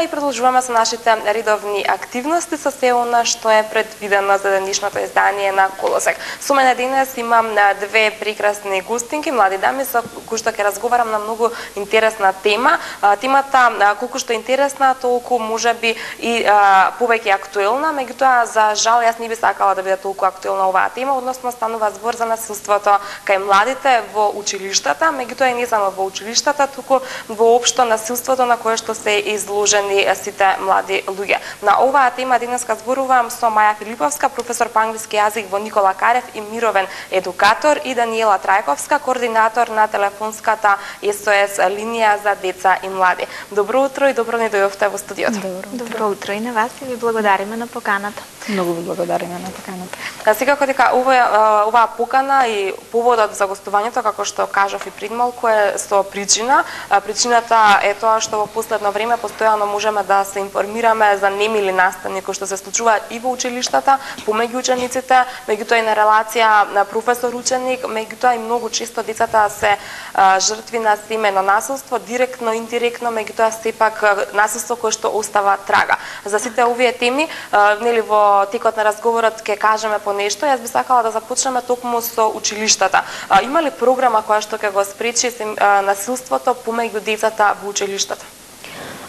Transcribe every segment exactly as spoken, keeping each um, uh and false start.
и продолжуваме со нашите редовни активности со се она што е предвидено за денешното издание на Колосек. Со мене денес имам две прекрасни гостинки, млади дами со кои што ќе разговарам на многу интересна тема. Темата колку што е интересна, толку можеби и а, повеќе актуелна, меѓутоа за жал јас не би сакала да биде толку актуелна оваа тема, односно станува збор за насилството кај младите во училиштата, меѓутоа и не само во училиштата, туку воопшто насилството на кое што се изложени сите млади луѓе. На оваа тема денеска зборувам со Маја Филиповска, професор по англиски јазик во Никола Карев и мировен едукатор, и Даниела Трајковска, координатор на телефонската ес о ес линија за деца и млади. Добро утро и добро ни дојдовте во студиото. Добро, добро утро и на вас и ви благодариме на поканата. Многу ви благодариме на поканата. А секако дека ова оваа покана и поводот за гостувањето, како што кажав и пред малку, е со причина. Причината е тоа што во последно време постојано можеме да се информираме за немили настани кои што се случуваат и во училиштата, помеѓу учениците, меѓутоа и на релација на професор-ученик, меѓутоа и многу често децата се а, жртви на семено насилство, директно, индиректно, меѓутоа сепак насилство кое што остава трага. За сите овие теми, а, нели во текот на разговорот ќе кажеме по нешто. Јас би сакала да започнеме токму со училиштата. А, има ли програма која што ќе го спречи а, насилството помеѓу децата во училиштата?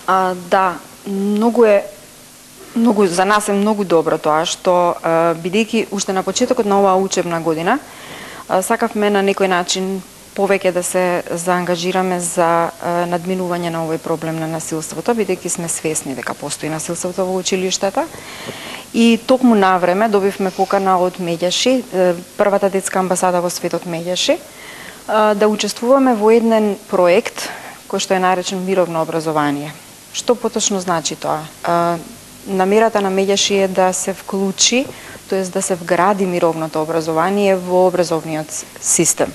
А, да, многу е многу за нас е многу добро тоа што бидејќи уште на почетокот на оваа учебна година а, сакавме на некој начин повеќе да се заангажираме за а, надминување на овој проблем на насилството, бидејќи сме свесни дека постои насилството во училиштата. И токму навреме добивме покана од Меѓаши, првата детска амбасада во светот Меѓаши, да учествуваме во еден проект кој што е наречен Мировно образование. Што поточно значи тоа? Намерата на Меѓаши е да се вклучи, тоест да се вгради мировното образование во образовниот систем.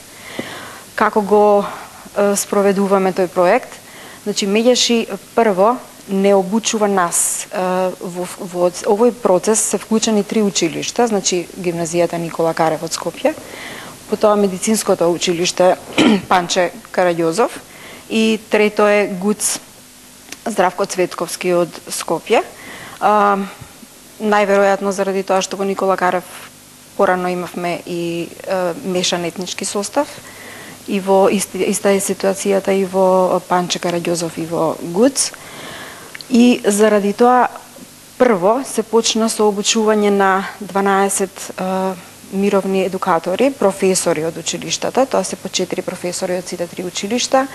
Како го спроведуваме тој проект? Значи, Меѓаши прво не обучува нас. Во, во овој процес се вклучени три училишта, значи гимназијата Никола Карев од Скопје, потоа медицинското училиште Панче Караѓозов и трето е ГУЦ Здравко Цветковски од Скопје. А, најверојатно заради тоа што во Никола Карев порано имавме и а, мешан етнички состав, и во иста, иста е ситуацијата и во Панче Караѓозов и во ГУЦ. И заради тоа прво се почна со обучување на дванаесет а, мировни едукатори, професори од училиштата, тоа се по четири професори од сите три училишта,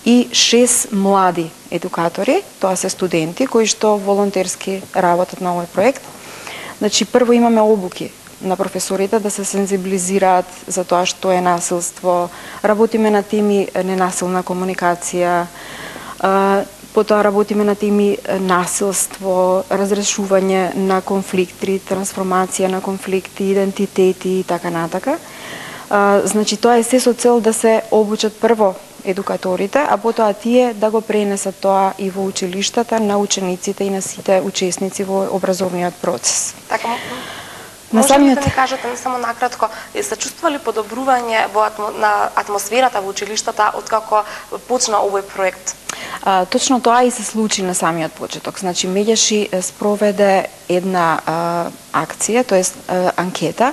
и шест млади едукатори, тоа се студенти кои што волонтерски работат на овој проект. Значи, прво имаме обуки на професорите да се сензибилизираат за тоа што е насилство, работиме на теми ненасилна комуникација, потоа работиме на теми насилство, разрешување на конфликти, трансформација на конфликти, идентитети и така натака. А, значи, тоа е се со цел да се обучат прво едукаторите, а потоа тие да го пренесат тоа и во училиштата на учениците и на сите учесници во образовниот процес. Така, на може самиот... ли да ми кажете, не само накратко, се чувствували подобрување во атмо... на атмосферата во училиштата откако почна овој проект? А, точно тоа и се случи на самиот почеток. Значи, Меѓаши спроведе една а, акција, тоест а, анкета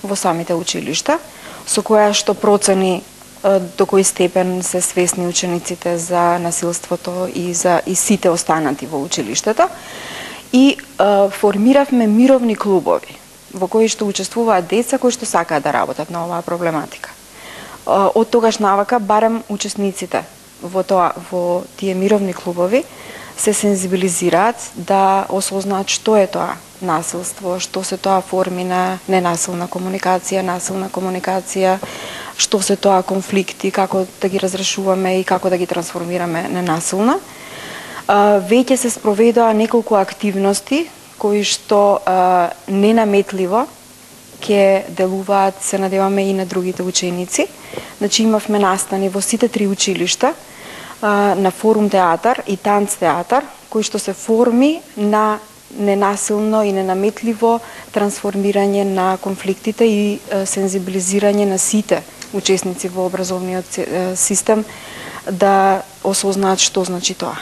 во самите училишта, со која што процени а, до кој степен се свесни учениците за насилството и за и сите останати во училиштата. И а, формиравме мировни клубови во кои што учествуваат деца кои што сакаат да работат на оваа проблематика. А, од тогаш навака барем учесниците во тоа, во тие мировни клубови се сензибилизираат да осознаат што е тоа насилство, што се тоа форми на ненасилна комуникација, насилна комуникација, што се тоа конфликти, како да ги разрешуваме и како да ги трансформираме ненасилно. Веќе се спроведоа неколку активности кои што а, ненаметливо ќе делуваат, се надеваме, и на другите ученици. Значи, имавме настани во сите три училишта а, на форум театар и танц театар, кои што се форми на ненасилно и ненаметливо трансформирање на конфликтите и а, сензибилизирање на сите учесници во образовниот систем да осознаат што значи тоа.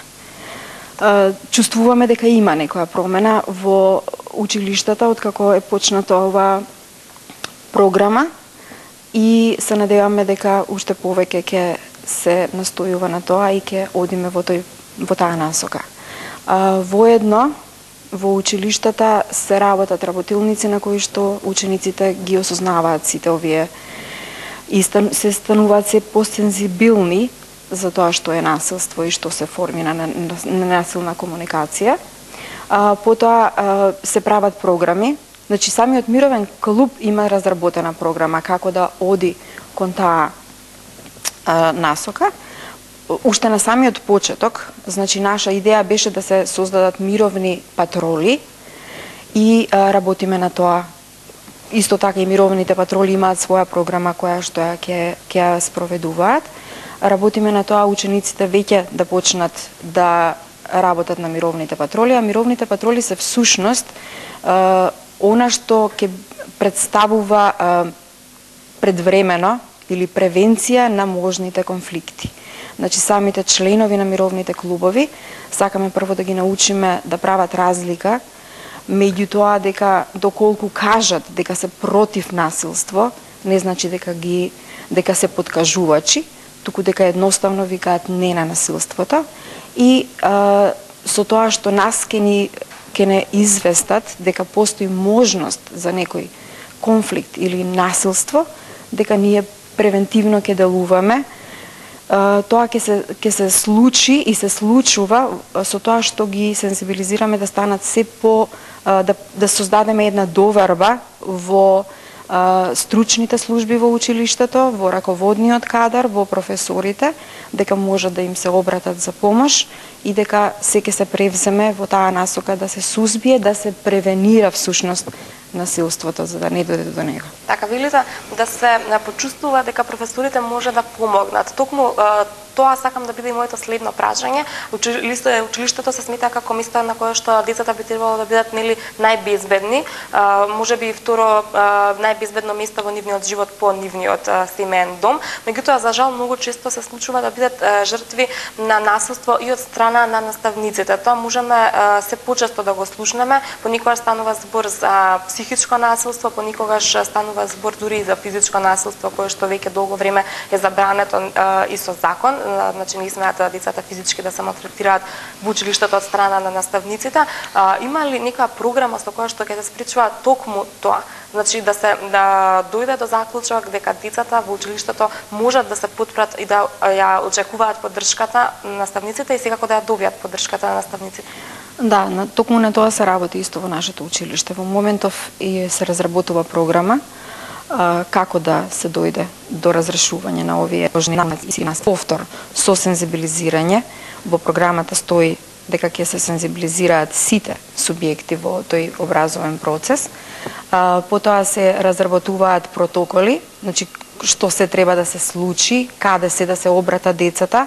чувствуваме дека има некоја промена во училиштата откако е почната оваа програма и се надеваме дека уште повеќе ќе се настојува на тоа и ќе одиме во тој во таа насока. Воедно во училиштата се работат работилници на кои што учениците ги осознаваат сите овие и се стануваат се посензибилни за тоа што е насилство и што се форми на ненасилна комуникација. А, потоа а, се прават програми. Значи самиот мировен клуб има разработена програма како да оди кон таа а, насока. Уште на самиот почеток, значи наша идеја беше да се создадат мировни патроли и а, работиме на тоа. Исто така и мировните патроли имаат своја програма која што ја ќе ќе ја спроведуваат. Работиме на тоа учениците веќе да почнат да работат на мировните патроли, а мировните патроли се всушност е, она што ќе представува е, предвремено или превенција на можните конфликти. Значи самите членови на мировните клубови сакаме прво да ги научиме да прават разлика меѓу тоа дека доколку кажат дека се против насилство, не значи дека ги дека се подкажувачи, туку дека едноставно викаат не на насилството и а, со тоа што нас ке ни ке не известат дека постои можност за некој конфликт или насилство, дека ние превентивно ќе делуваме. А, тоа ќе се ќе се случи и се случува со тоа што ги сензибилизираме да станат се по а, да да создадеме една доверба во стручните служби во училиштето, во раководниот кадар, во професорите, дека можат да им се обратат за помош и дека се ќе се превземе во таа насока да се сузбие, да се превенира всушност насилството за да не дојде до него. Така велите да се почувствува дека професорите може да помогнат. Токму тоа сакам да биде и моето следно прашање. Училиштето се смета како место на кое што децата би требало да бидат нели најбезбедни, може би и второ најбезбедно место во нивниот живот по нивниот семеен дом. Меѓутоа за жал многу често се случува да бидат жртви на насилство и од страна на наставниците. Тоа можеме се почесто да го слушнеме, понекогаш станува збор за психичко насилство, понекогаш станува збор дури и за физичко насилство кое што веќе долго време е забрането и со закон. Значи не смеат децата физички да се малтретираат во училиштето од страна на наставниците. А, има ли нека програма со која што ќе се спречува токму тоа? Значи да се да дојде до заклучок дека децата во училиштето можат да се потпрат и да ја очекуваат поддршката на наставниците и секако да ја добијат поддршката на наставниците. Да, на токму на тоа се работи исто во нашето училиште. Во моментов и се разработува програма а, како да се дојде до разрешување на овие важни намеци на повтор со сензибилизирање. Во програмата стои дека ќе се сензибилизираат сите субјекти во тој образовен процес. А, потоа се разработуваат протоколи, значи што се треба да се случи, каде се да се обрата децата,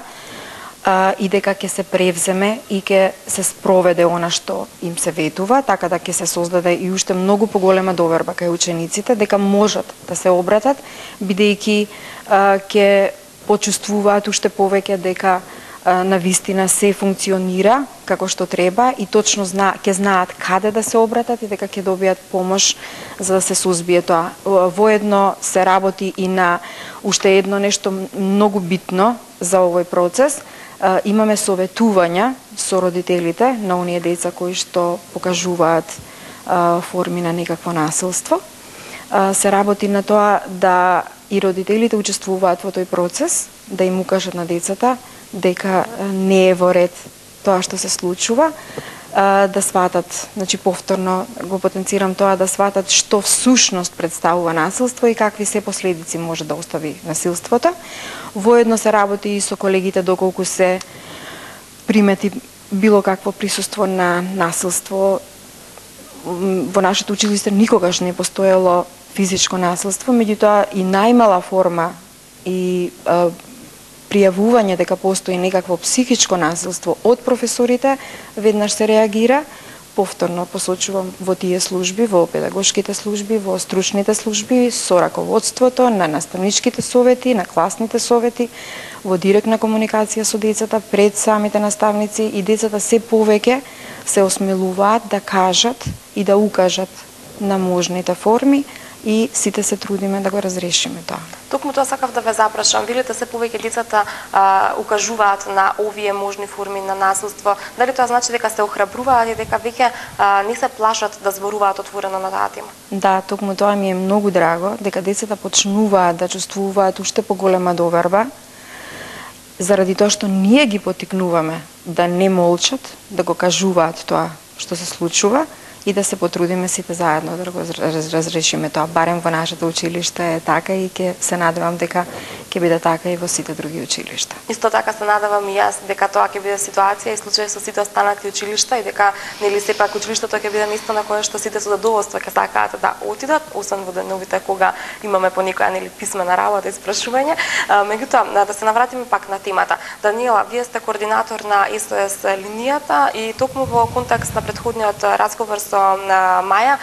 а, и дека ќе се превземе и ќе се спроведе она што им се ветува, така да ќе се создаде и уште многу поголема доверба кај учениците дека можат да се обратат, бидејќи ќе почувствуваат уште повеќе дека на вистина се функционира како што треба и точно зна, ќе знаат каде да се обратат и дека ќе добијат помош за да се сузбие тоа. Воедно се работи и на уште едно нешто многу битно за овој процес. Имаме советувања со родителите на оние деца кои што покажуваат форми на некакво насилство. Се работи на тоа да и родителите учествуваат во тој процес, да им укажат на децата дека не е во ред тоа што се случува, да сватат, значи повторно го потенцирам тоа, да сватат што всушност представува насилство и какви се последици може да остави насилството. Воедно се работи и со колегите доколку се примети било какво присуство на насилство. Во нашето училиште никогаш не постоело физичко насилство, меѓутоа и најмала форма и а, пријавување дека постои некакво психичко насилство од професорите, веднаш се реагира, повторно посочувам во тие служби, во педагошките служби, во стручните служби, со раководството, на наставничките совети, на класните совети, во директна комуникација со децата пред самите наставници, и децата се повеќе се осмелуваат да кажат и да укажат на можните форми, и сите се трудиме да го разрешиме тоа. Токму тоа сакав да ве запрашам. Видите се повеќе децата а, укажуваат на овие можни форми на насилство. Дали тоа значи дека се охрабруваат и дека веќе а, не се плашат да зборуваат отворено на таа тема? Да, токму тоа ми е многу драго, дека децата почнуваат да чувствуваат уште поголема доверба, заради тоа што ние ги поттикнуваме да не молчат, да го кажуваат тоа што се случува, и да се потрудиме сите заедно да го разрешиме тоа. Барем во нашето училиште е така, и ќе се надевам дека ќе биде така и во сите други училишта. Исто така се надевам и јас дека тоа ќе биде ситуација и случај со сите останати училишта, и дека нели сепак училиштето ќе биде место на кое што сите со задоволство ќе сакаат да отидат, освен во деновите кога имаме по некоја нели писмена работа и спрашување. Меѓутоа, да се навратиме пак на темата. Даниела, вие сте координатор на ес о ес линијата, и токму во контекст на претходниот разговор со Маја,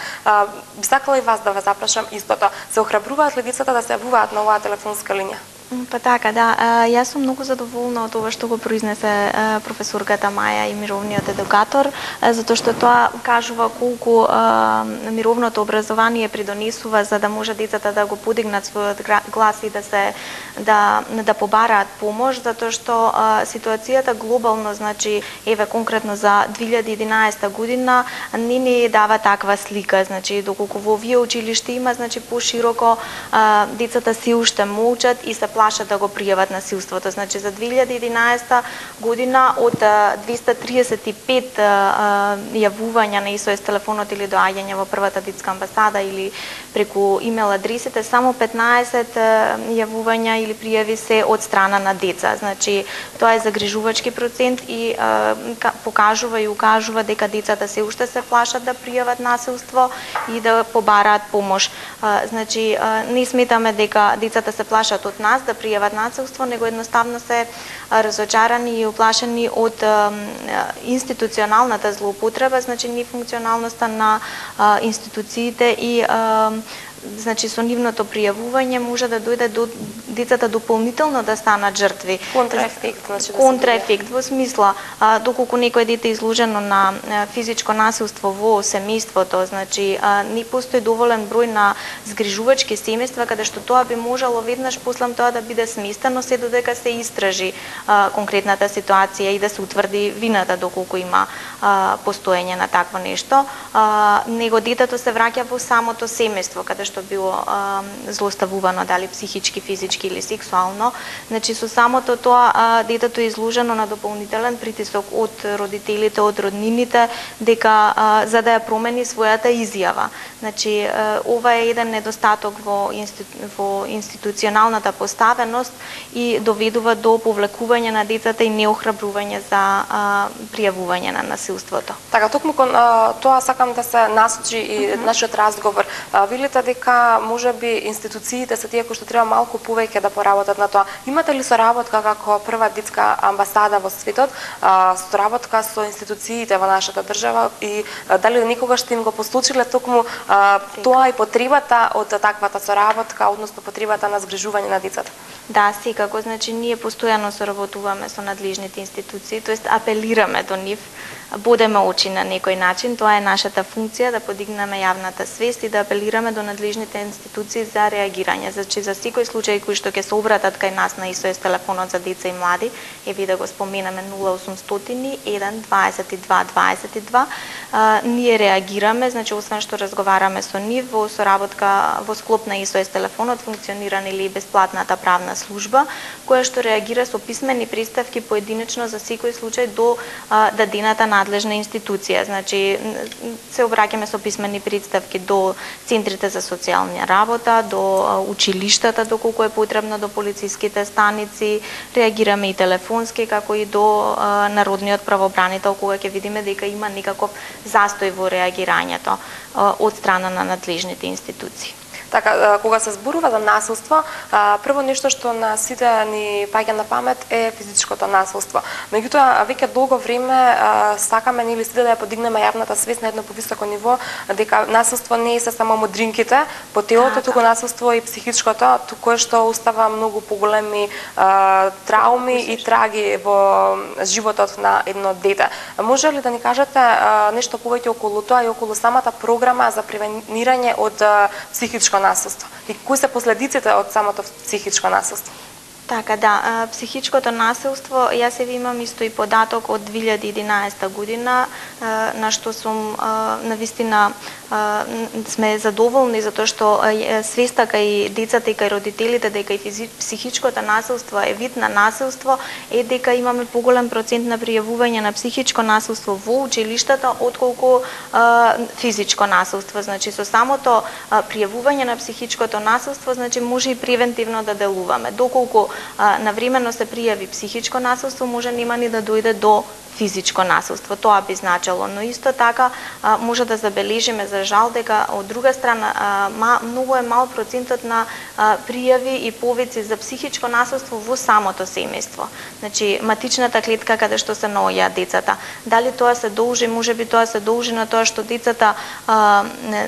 би сакала и вас да ве запрашам истото. Се охрабруваат ли децата да се јавуваат на оваа телефонска линија? Па така, да. Јас сум многу задоволна од ова што го произнесе професорката Маја и мировниот едукатор, затоа што тоа кажува колку мировното образование придонесува за да може децата да го подигнат својот глас и да се да да побараат помош, затоа што ситуацијата глобално, значи еве конкретно за две илјади и единаесета година не ни дава таква слика, значи доколку во овие училишта има, значи пошироко децата се уште молчат и се плашат да го пријават насилството. Значи за две илјади и единаесета година од двеста триесет и пет јавувања на ес о ес телефонот или доаѓање во првата детска амбасада или преку имейл адресите, само петнаесет јавувања или пријави се од страна на деца. Значи тоа е загрижувачки процент и покажува и укажува дека децата се уште се плашат да пријават насилство и да побараат помош. Значи не сметаме дека децата се плашат од нас да пријават насилство, него едноставно се разочарани и уплашени од институционалната злоупотреба, значи нефункционалноста на институциите и значи со нивното пријавување може да дојде до децата дополнително да станат жртви. Контраефект, значи контраефект во смисла а, доколку некој дете е изложено на а, физичко насилство во семејството, значи а, не постои доволен број на згрижувачки семејства каде што тоа би можело веднаш после тоа да биде сместено се додека се истражи а, конкретната ситуација и да се утврди вината доколку има а, постоење на такво нешто. А, него детето се враќа во самото семејство каде што било а, злоставувано, дали психички, физички или сексуално. Значи со самото тоа а, детето е изложено на дополнителен притисок од родителите, од роднините, дека а, за да ја промени својата изјава. Значи а, ова е еден недостаток во, институ... во институционалната поставеност и доведува до повлекување на децата и неохрабрување за а, пријавување на насилството. Така, токму кон а, тоа сакам да се насочи и mm -hmm. нашиот разговор. А, Вилите дека можеби институциите се тие кои што треба малку повеќе да поработат на тоа. Имате ли соработка како прва детска амбасада во светот, а, соработка со институциите во нашата држава и а, дали никогаш сте им го послучиле токму а, тоа и потребата од таквата соработка, односно потребата на згрижување на децата? Да, секако, значи ние постојано соработуваме со надлежните институции, тоест апелираме до нив, бодеме очи на некој начин, тоа е нашата функција да подигнеме јавната свест и да апелираме до надлежните институции за реагирање. Значи за секој случај кој што ќе се обратат кај нас на ес о ес телефонот за деца и млади, е ви да го споменаме нула осумстотини еден дваесет и два дваесет и два, а, ние реагираме, значи освен што разговараме со нив во соработка во склоп на ес о ес телефонот функционира или бесплатната правна служба која што реагира со писмени представки поединечно за секој случај до а, дадената надлежна институција. Значи се обраќаме со писмени представки до центрите за социјална работа, до училиштата доколку е потребно, до полициските станици, реагираме и телефонски како и до а, народниот правобранител кога ќе видиме дека има некаков застој во реагирањето а, од страна на надлежните институции. Така, кога се зборува за насилство, прво нешто што на сите ни паѓа на памет е физичкото насилство. Меѓутоа, веќе долго време сакаме нели сите да ја подигнеме јавната свест на едно повисоко ниво, дека насилство не е се само модринките по телото, туку насилство и психичкото, кое што остава многу поголеми трауми и траги во животот на едно дете. Може ли да ни кажете нешто повеќе околу тоа и околу самата програма за превенирање од психичко насилство? И кои се последиците од самото психичко насилство? Така, да, психичкото насилство, јас се имам исто и податок од две илјади и единаесета година, на што сум навистина сме задоволни затоа што свеста кај децата и кај родителите дека и психичкото насилство е вид на насилство, е дека имаме поголем процент на пријавување на психичко насилство во училиштата отколку физичко насилство. Значи со самото пријавување на психичкото насилство, значи може и превентивно да делуваме. Доколку навремено се пријави психичко насилство, може нема ни да дојде до физичко насилство, тоа би значило, но исто така може да забележиме за жал дека од друга страна многу е мал процентот на пријави и повици за психичко насилство во самото семејство. Значи матичната клетка каде што се наоѓаат децата. Дали тоа се должи, можеби тоа се должи на тоа што децата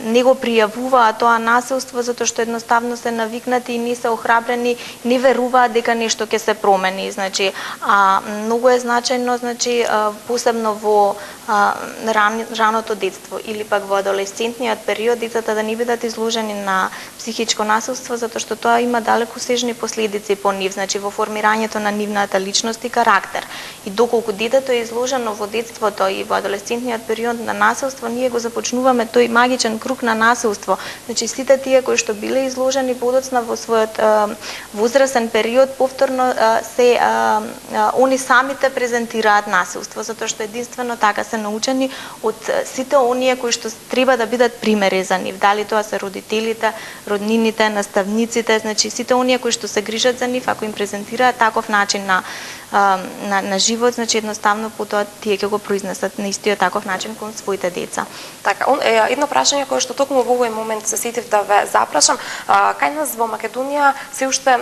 не го пријавуваат тоа насилство затоа што едноставно се навикнати и не се охрабрени, не веруваат дека нешто ќе се промени. Значи а многу е значајно, значи посебно во ран, раното детство или пак во адолесцентниот период децата да не бидат изложени на психичко насилство затоа што тоа има далекосежни последици по нив, значи во формирањето на нивната личност и карактер. И доколку детето е изложено во детството и во адолесцентниот период на насилство, ние го започнуваме тој магичен круг на насилство. Значи сите тие кои што биле изложени подоцна во својот возрастен период повторно се а, а, они самите презентираат насилство, затоа што единствено така се научени од сите оние кои што треба да бидат примери за нив. Дали тоа се родителите, роднините, наставниците, значи сите оние кои што се грижат за нив, ако им презентираат таков начин на на, на живот, значи едноставно потоа тие ќе го произнесат на истиот таков начин кон своите деца. Така, едно прашање кое што токму во овој момент се сетив да ве запрашам, кај нас во Македонија се уште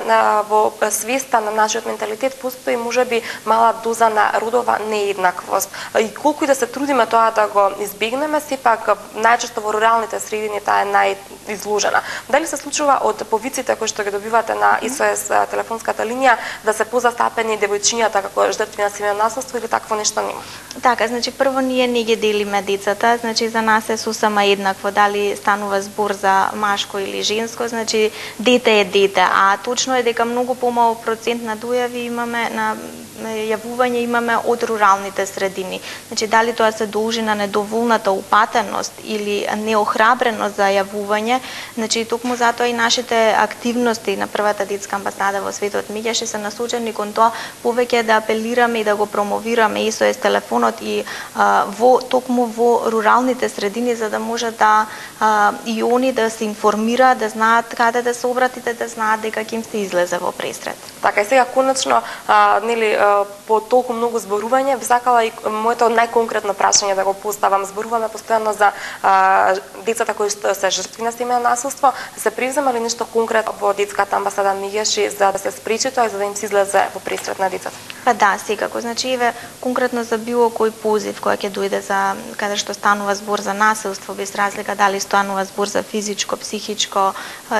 во свеста на нашиот менталитет постои можеби мала доза на родова нееднаквост. И колку и да се трудиме тоа да го избегнеме, сепак најчесто во руралните средини таа е најизложена. Дали се случува од повиците кои што ги добивате на СОС телефонската линија да се позастапени девојчињата како жртви на семејно насилство или такво нешто нема? Така, значи прво ние не ги делиме децата, значи за нас е сосема еднакво дали станува збор за машко или женско, значи дете е дете, а точно е дека многу помал процент на дојави имаме на јавување имаме од руралните средини. Значи дали тоа се должи на недоволната упатеност или неохрабреност за јавување, значи токму затоа и нашите активности на првата детска амбасада во светот Миѓаши се насочени кон тоа повеќе да апелираме и да го промовираме СОС телефонот и а, во токму во руралните средини за да може да а, и они да се информираат, да знаат каде да се обратите, да знаат дека ќе им се излезе во пресрет. Така и сега конечно а, нели а, по толку многу зборување би сакала и моето најконкретно прашање да го поставам. Зборуваме постојано за а, децата кои се жртви на семејно насилство. Се превзема ли нешто конкретно во детската амбасада Миѓаши за да се спречи тоа и за да им се излезе во пресрет на децата? Па да, секако. Значи еве конкретно за било кој позив кој ќе дојде за каде што станува збор за насилство, без разлика дали станува збор за физичко, психичко,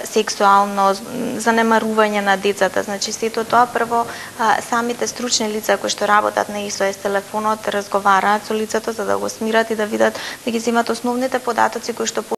сексуално, занемарување на децата. Значи сето тоа прво самите стручни лица кои што работат на СОС телефонот разговараат со лицето за да го смират и да видат да ги земат основните податоци кои што